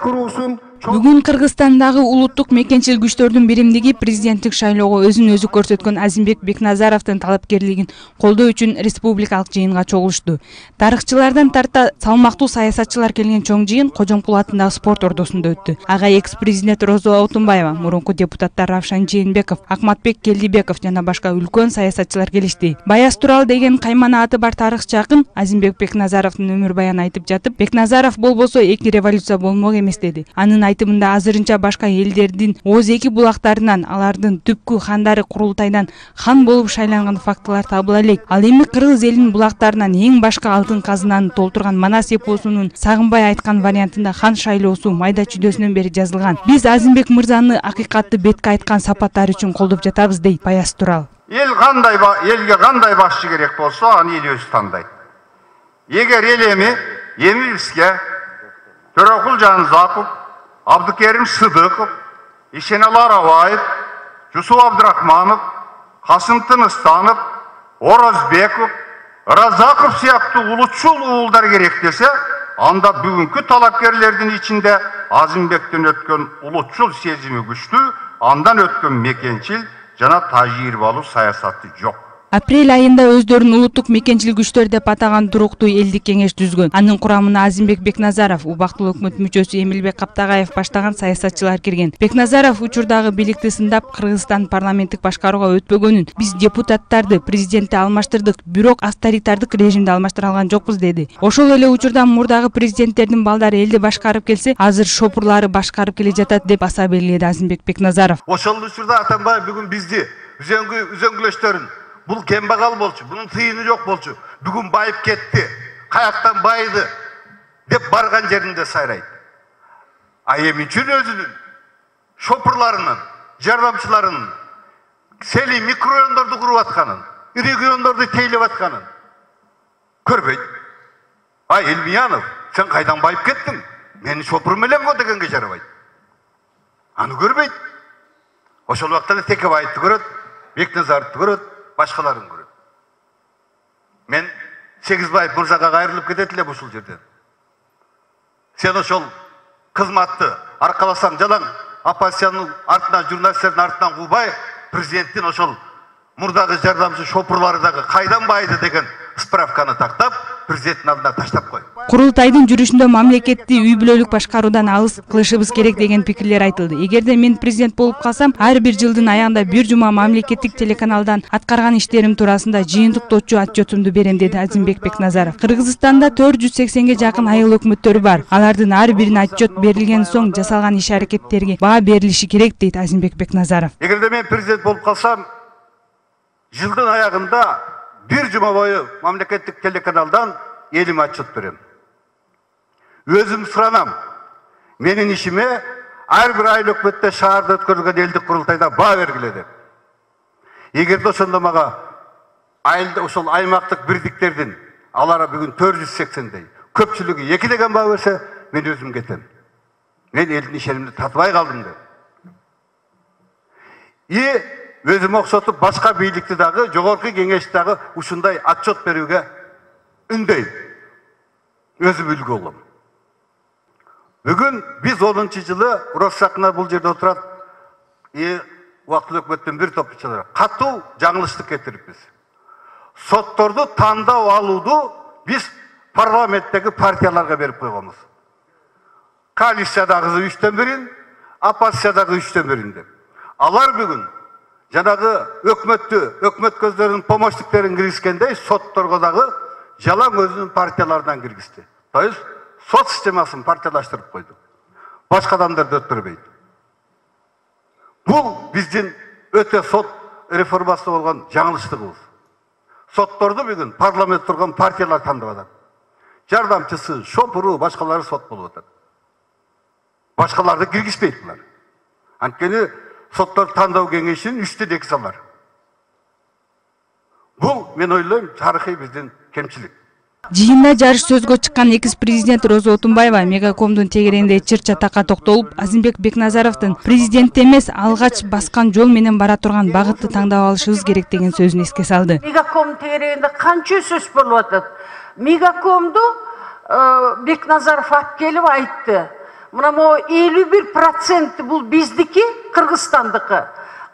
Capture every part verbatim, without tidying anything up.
куруусун Бүгүн Кыргызстандагы улуттук мекенчил күчтөрдүн биримдиги президенттик шайлоого өзүн өзү көрсөткөн Азимбек Бекназаровдун талапкерлигин колдоо үчүн республикалык жыйынга чогулушту. Тарыхчылардан тарта салмактуу саясатчылар келген чоң жыйын Кожомкул атындагы спорт ордосунда өттү. Ага экс-президент Розо Отунбаева, мурунку депутаттар Равшан Жээнбеков, Акматбек Келдибеков жана башка үлкөн саясатчылар келишти. Баяз Турал деген каймана аты бар тарыхчы акын Азимбек Бекназаровдун өмүр баянын айтып жатып, Бекназаров болбосо эки революция болмок эмес деди. Анын айтымында азырынча башка элдердин Оз эки булактарынан, алардын түпкү хандары курултайдан хан болуп шайланган фактылар табыла элек. Ал эми кыргыз элинин булактарынан эң башка алтын казынаны толтурган Манас эпосунун Сагынбай айткан вариантында хан шайлоосу майда чүйдөсүнөн бери жазылган. Биз Азимбек мырзаны акыйкатты бетке айткан сапаттары үчүн колдоп жатабыз, дейт Баяз Турал. Эл кандай элге кандай башчы керек болсо, аны эл өзү тандайт. Эгер эл эми эми бизге Төрөкул Жанзаков, Абдыкерим Сыдыков, Ишеналы Арабаев, Жусуп Абдрахманов, Касым Тыныстанов, Оразбеков, Разаков сыяктуу улутчул уулдар керек десе, анда бүгүнкү талапкерлердин ичинде Азимбектен өткөн улутчул сезими күчтүү, андан өткөн мекенчил жана тажрыйбалуу саясаты жок. Апрель айында өздөрүн улуттук мекенчил күчтөр деп атаган туруктуу элдик кеңеш түзгөн. Анын курамына Азимбек Бекназаров, убактылуу өкмөт мүчөсү Эмилбек Каптагаев баштаган саясатчылар кирген. Бекназаров учурдагы бийликти сындап, Кыргызстан парламенттик башкарууга өтпөгөнүн, биз депутаттарды, президентти алмаштырдык, бирок авторитардык режимди алмаштыра алган жокпуз деди. Ошол эле учурда мурдагы президенттердин балдары элди башкарып келсе, азыр шопурлары башкарып келе жатат деп баса белгиледи Азимбек Бекназаров. Ошол учурда Атамбаев бүгүн бизди үзөңгү үзөңгүлөштөрүн бул кембагал болчу, бунун тыйыны жок болчу. Бүгүн байып кетти, каяктан байды деп барган жеринде сайрайт. А эми үчүн өзүнүн шопурларынын, жардамчыларынын сели микрорайондорду куруп атканын, региондорду тейлеп атканын көрбөйт. А Элмиянов, сен кайдан байып кеттиң? Мени шопур менен го дегенге жарабайт. Аны көрбөйт. Ошол убакта Текебаевди көрөт, Бекназаровду көрөт, башкаларын көрөт. Мен Сегизбаев мырзага кайрылып кетет элем ушул жерден. Сен ошол кызматты аркаласаң жалаң, оппозициянын артынан, журналисттердин артынан куубай, президенттин ошол мурдагы жардамчы шопурлары дагы кайдан байды деген справканы тактап, президенттин алдына таштап кой. Курултайдын жүрүшүндө мамлекетти үй бүлөлүк башкаруудан алыс кылышыбыз керек деген пикирлер айтылды. Эгерде мен президент болуп калсам, ар бир жылдын аягында бир жума мамлекеттик телеканалдан аткарган иштерим туурасында жыйынтыктоочу отчетумду берем, деди Азимбек Бекназаров. Кыргызстанда төрт жүз сексенге жакын айыл өкмөттөрү бар. Алардын ар бирине отчет берилген соң жасалган иш аракеттерге баа берилиши керек, дейт Азимбек Бекназаров. Эгерде мен президент болуп калсам, жылдын аягында бир жума бою мамлекеттик телеканалдан элиме отчет берем. Өзүм суранам. Менин ишиме ар бир айыл өкмөттө шаарда өткөрүлгөн элдик курултайда баа бергиле деп. Эгерде ошондо мага айылда ошол аймактык бирдиктердин алар бүгүн төрт жүз сексендей, көпчүлүгү эки деген баа берсе, мен өзүм кетем. Мен элдин ишенимди татыбай калдым деп. И өзүм окшотуп башка бийликти дагы, жогорку кеңешти дагы ушундай отчет берүүгө үндөйм. Өзүм үлгү болом. Бүгүн биз онунчу жылы Россакна бул жерде отурат, и убактылуу өкмөттүн бир топ ишчилери катуу жаңылыштык кетириппиз. Сотторду тандап алууду биз парламенттеги партияларга берип койгонбуз. Коалициядагы үчтөн бирин, оппозициядагы үчтөн бирин деп. Алар бүгүн жанагы өкмөттү, өкмөт көздөрүнүн помощниктерин киргизгендей, сотторго дагы жалаң өзүнүн партияларынан киргизди. То есть сот системасын партиялаштырып койду. Башка адамдарды өттүрбөйт. Бул биздин өтө сот реформасы болгон жаңылыштыгыбыз. Сотторду бүгүн парламент турган партиялар тандап атат. Жардамчысы, шопуру, башкалары сот болуп атат. Башкаларды киргизбейт булар. Анткени соттор тандоо кеңешин үчтөн эки салар. Бул мен ойлойм тарыхый биздин кемчилик. Жыйында жарыш сөзгө чыккан экс-президент Розо Отунбаева мегакомдун тегерегинде чыр чатакка токтолуп, Азимбек Бекназаровдун президент эмес, алгач баскан жол менен бара турган багытты таңдап алышыбыз керек деген сөзүн эске салды. Мегаком тегерегинде канча сөз болуп атат. Мегакомду Бекназаров алып келип айтты. мына могу элүү бир проценти бул биздики, Кыргызстандыкы.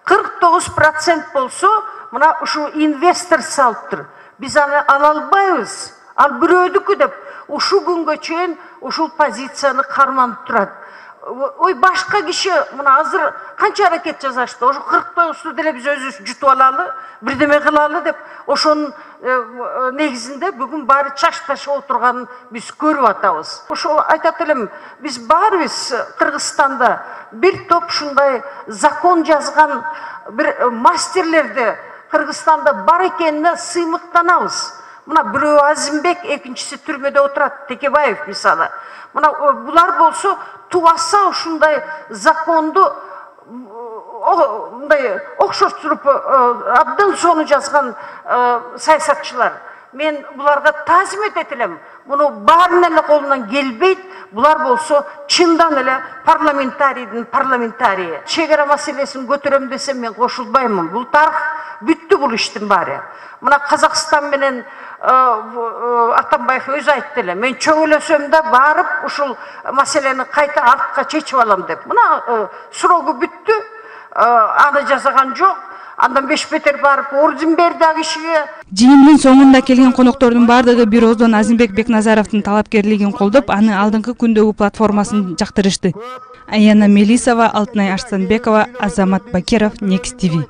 кырк тогуз процент болсо мына ушу инвестор салыптыр. Биз аны ала албайбыз. Ал бирөөдүкү деп ушу күнгө чейин ушул позицияны карманып турат. Ой, башка киши мына азыр канча аракет жасашты. Ошо кырк тогузду деле биз өзүбүз жутуп алалы, бирдеме кылалы деп ошонун негизинде бүгүн баары чашташып отурганын биз көрүп атабыз. Ошол айтат элем, биз баарыбыз Кыргызстанда бир топ ушундай закон жазган бир мастерлерди Кыргызстанда бар экенине сыймыктанабыз. Мына бирөө Азимбек, экинчиси түрмөдө отурат, Текебаев мисалы. Мына булар болсо тубаса ушундай законду мындай окшоштуруп абдан сону жазган саясатчылар. Мен буларга таазим этет элем. Муну баарын эле колунан келбейт. Булар болсо чындан эле парламентарийдин парламентарийи. Чек ара маселесин көтөрөм десем мен кошулбаймын. Бул тарых бүттү бул иштин баары. Мына Казакстан менен Атамбаев өзү айтты эле, мен чөгөлөсөм да барып ушул маселени кайта артка чечип алам деп. Мына срогу бүттү, аны жасаган жок. Андан беш бетер барып орден берди а кишиге. Жыйындын соңунда келген коноктордун бардыгы бир ооздон Азимбек Бекназаровдун талапкерлигин колдоп, аны алдыңкы күндөгү платформасын жактырышты. Аяна Мелисова, Алтынай Арстанбекова, Азамат Бакиров, Next ти ви.